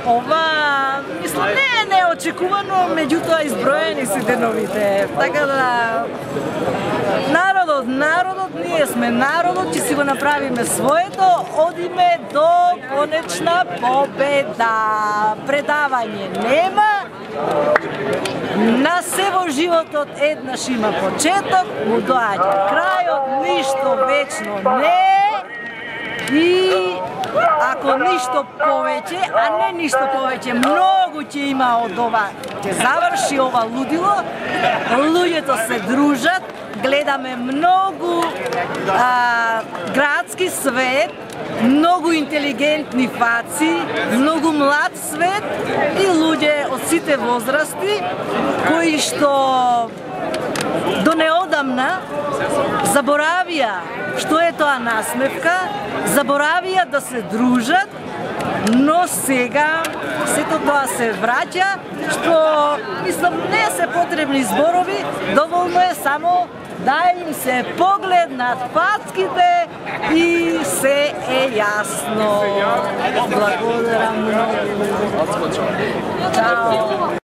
Ова, мислам, не е неочекувано, меѓутоа изброени си деновите. Така да, народот, ние сме народот, ќе си го направиме своето, одиме до конечна победа. Предавање нема, на се во животот еднаш има почеток, му доаѓа крајот, ништо вечно не е. И ако ништо повеќе, а не ништо повеќе, многу ќе има од ова, ќе заврши ова лудило, луѓето се дружат, гледаме многу градски свет, многу интелигентни фаци, многу млад свет и луѓе од сите возрасти, кои што до неодамна заборавија што е тоа насмевка, заборавија да се дружат, но сега сето тоа се враќа, што, мислам, не се потребни зборови, доволно е само да им се поглед над фацките и се е јасно. Благодарам многу. Чао.